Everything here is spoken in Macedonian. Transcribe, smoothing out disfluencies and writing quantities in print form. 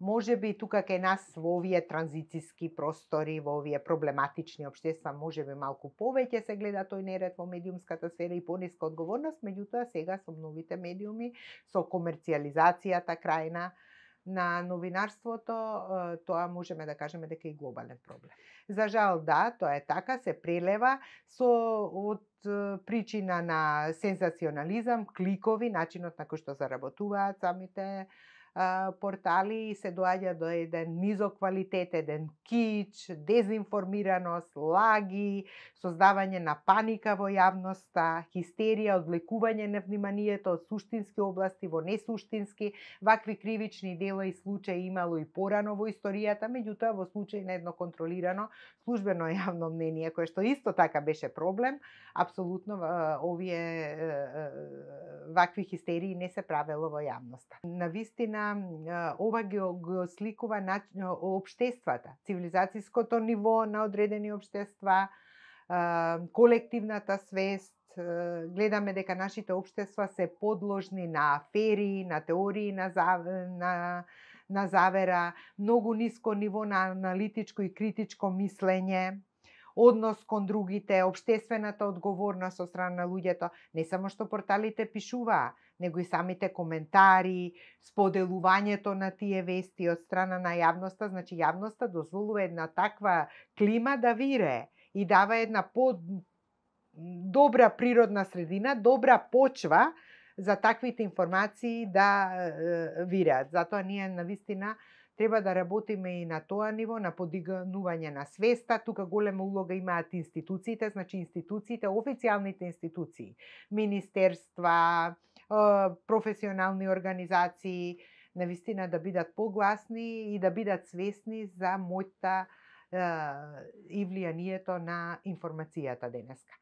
може би тука кај нас во овие транзициски простори, во овие проблематични општества, може би малку повеќе се гледа тој неред во медиумската сфера и пониска одговорност, меѓутоа сега со новите медиуми, со комерцијализацијата крајна на новинарството, тоа можеме да кажеме дека е глобален проблем. За жал, да, тоа е така, се прелева од причина на сензационализам, кликови, начинот на кој што заработуваат самите портали и се доаѓа до еден низок квалитет, еден кич, дезинформираност, лаги, создавање на паника во јавноста, хистерија, одвлекување на вниманието од суштински области во несуштински. Вакви кривични дела и случаи имало и порано во историјата, меѓутоа во случај на едно контролирано службено јавно мнение, кое што исто така беше проблем, апсолутно овие вакви хистерии не се правело во јавноста. Навистина ова ги сликува општествата, цивилизацијското ниво на одредени општества, колективната свест. Гледаме дека нашите општества се подложни на афери, на теории на завера, многу ниско ниво на аналитичко и критичко мислење, однос кон другите, општествената одговорност од страна на луѓето. Не само што порталите пишуваа, него и самите коментари, споделувањето на тие вести од страна на јавноста, значи јавноста дозволува една таква клима да вирее и дава една добра природна средина, добра почва за таквите информации да виреат. Затоа ние навистина треба да работиме и на тоа ниво, на подигнување на свеста. Тука голема улога имаат институциите, значи институциите, официјалните институции, министерства, професионални организации, навистина да бидат погласни и да бидат свесни за моќта и влијанието на информацијата денеска.